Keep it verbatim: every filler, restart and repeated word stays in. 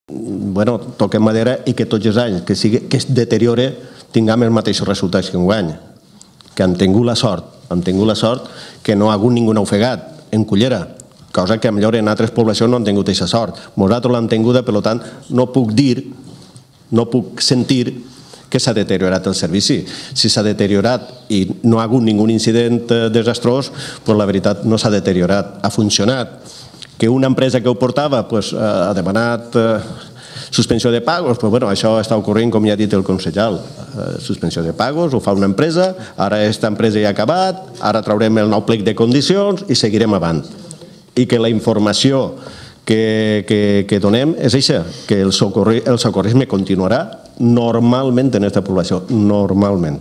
bueno, toquem madera i que tots els anys que, sigui, que es deteriore tinguem els mateixos resultats que enguany. Que hem tingut la sort, hem tingut la sort que no ha hagut ningú ofegat en Cullera, cosa que millor en altres poblacions no han tingut aquesta sort. Nosaltres l'hem tinguda, per tant, no puc dir, no puc sentir que s'ha deteriorat el servici. Si s'ha deteriorat i no ha hagut ningun incident desastrós, doncs la veritat no s'ha deteriorat, ha funcionat. Que una empresa que ho portava ha demanat suspensió de pagos, doncs bueno, això està ocorrent, com ja ha dit el consellal. Suspensió de pagos, ho fa una empresa, ara aquesta empresa ja ha acabat, ara traurem el nou plec de condicions i seguirem avant. I que la informació que, que, que donem és això, que el, socorri, el socorrisme continuarà normalment en aquesta població, normalment.